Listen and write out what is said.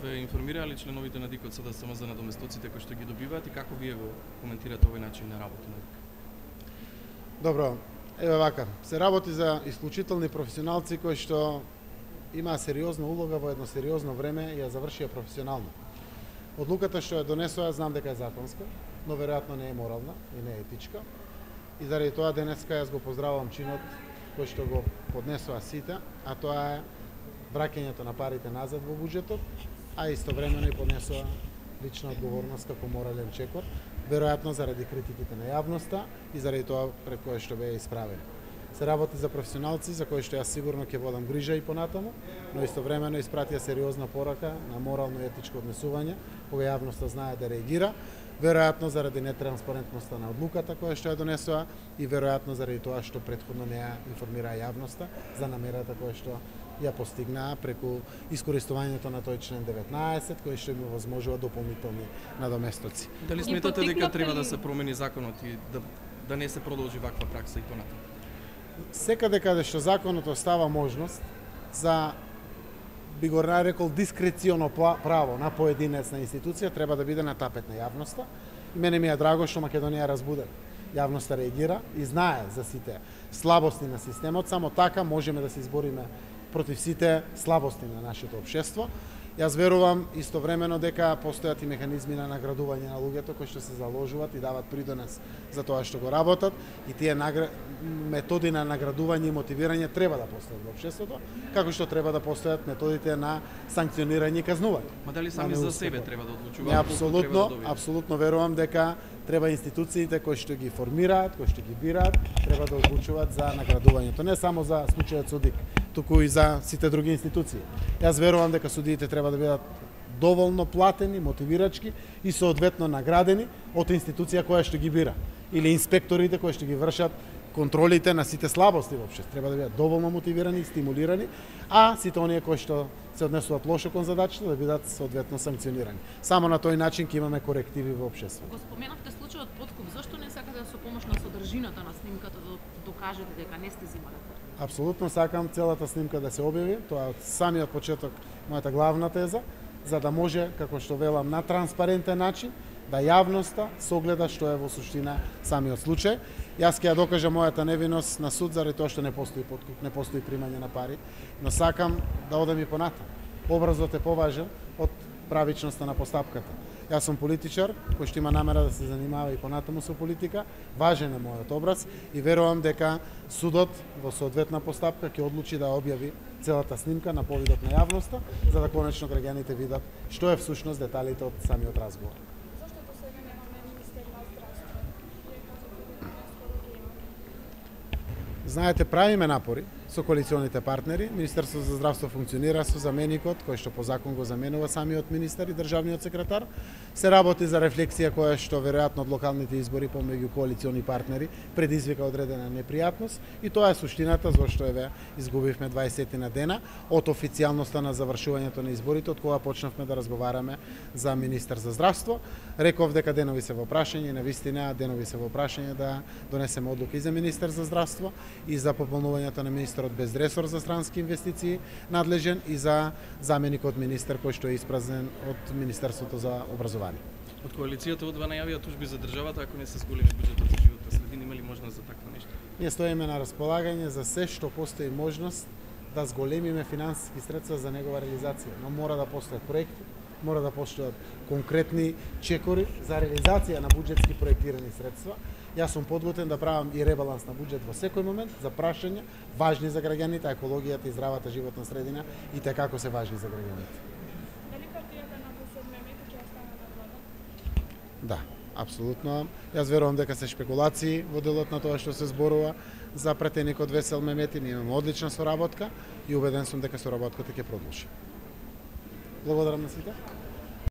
ве информирале членовите на ДИК-от СДСМ за надоместоците кои што ги добиваат и како вие го коментирате овој начин на работа на ДИК? Добро, еве вака, се работи за исклучителни професионалци кои што имаа сериозна улога во едно сериозно време и ја завршија професионално. Одлуката што ја донесоа, знам дека е законска, но веројатно не е морална и не е етичка. И заради тоа денеска јас го поздравувам чинот кој што го поднесоа сите, а тоа е враќањето на парите назад во буџетот, а истовремено и поднесоа лична одговорност како морален чекор, веројатно заради критиките на јавноста и заради тоа пред кое што беа исправени. Се работи за професионалци за кои што јас сигурно ќе водам грижа и понатаму, но истовремено испратија сериозна порака на морално и етичко однесување, кога јавноста знае да реагира, веројатно заради нетранспарентноста на одлуката која што ја донесоа и веројатно заради тоа што претходно не ја информираа јавноста за намерата која што ја постигнаа преку искористувањето на тој член 19 кој што им овозможува дополнителни надоместоци. Дали сметате дека треба да се промени законот и да не се продолжи ваква пракса и понатаму? Секаде каде што законот остава можност за, би го нарекол, дискреционо право на поединец на институција, треба да биде на тапет на јавноста. И мене ми е драго што Македонија е разбудена. Јавноста реагира и знае за сите слабости на системот, само така можеме да се избориме против сите слабости на нашето општество. Јас верувам истовремено дека постојат и механизми на наградување на луѓето кои што се заложуваат и дават придонес за тоа што го работат и тие методи на наградување и мотивирање треба да постојат во општеството, како што треба да постојат методите на санкционирање и казнување. Ма дали сами за себе треба да одлучуваат? Апсолутно верувам дека треба институциите кои што ги формираат, кои што ги бираат, треба да одлучуваат за наградувањето, не само за случајот со ДИК, туку и за сите други институции. Јас верувам дека судиите треба да бидат доволно платени, мотивирачки и соодветно наградени од институција која што ги бира или инспекторите кои што ги вршат контролите на сите слабости во општеството. Треба да бидат доволно мотивирани и стимулирани, а сите оние кои што се однесуваат лошо кон задачата да бидат соодветно санкционирани. Само на тој начин ќе имаме корективи во општеството. Го споменавте случајот подкуп, зашто не сакате да со помош на содржината на снимката да докажете дека не сте земале? Апсолутно сакам целата снимка да се објави, тоа е од самиот почеток мојата главна теза, за да може, како што велам, на транспарентен начин да јавноста согледа што е во суштина самиот случај. Јас ќе ја докажам мојата невиност на суд заради тоа што не постои подкуп, не постои примање на пари, но сакам да одам и понатаму. Образот е поважен од правичноста на постапката. Јас сум политичар кој што има намера да се занимава и понатаму со политика, важен е мојот образ и верувам дека судот во соодветна постапка ќе одлучи да објави целата снимка на повидот на јавноста, за да конечно граѓаните видат што е всушност деталите од самиот разговор. Зашто до сега немаме министер на здравство? Знаете, правиме напори со коалиционите партнери. Министерството за здравство функционира со заменикот, кој што по закон го заменува самиот министер и државниот секретар. Се работи за рефлексија која што веројатно од локалните избори помеѓу коалициони партнери предизвика одредена непријатност и тоа е суштината зашто еве изгубивме 20 на дена од официјалноста на завршувањето на изборите, од кога почнавме да разговараме за министер за здравство. Реков дека денови се во прашање, навистина денови се во прашање да донесеме одлука и за министер за здравство и за пополнувањето на министерот без ресор за странски инвестиции надлежен и за заменикот министер кој што е испразнен од Министерството за образование. Од коалицијата одва најавија тужби за државата ако не се зголеми буџетот за животна средина, има ли можност за такво нешто? Ние стоиме на располагање за се што постои можност да зголемиме финансиски средства за негова реализација, но мора да постојат проекти, мора да постојат конкретни чекори за реализација на буџетски проектирани средства. Јас сум подготвен да правам и ребаланс на буџет во секој момент за прашања важни за граѓаните, екологијата и здравата животна средина и те како се важни за граѓаните. Дали партијата на ДСМ ќе остане на влада? Да, апсолутно. Јас верувам дека се шпекулации во делот на тоа што се зборува за претеникот Весел Мемети. Ние имаме одлична соработка и убеден сум дека соработката ќе продолжи. Благодарам на сите.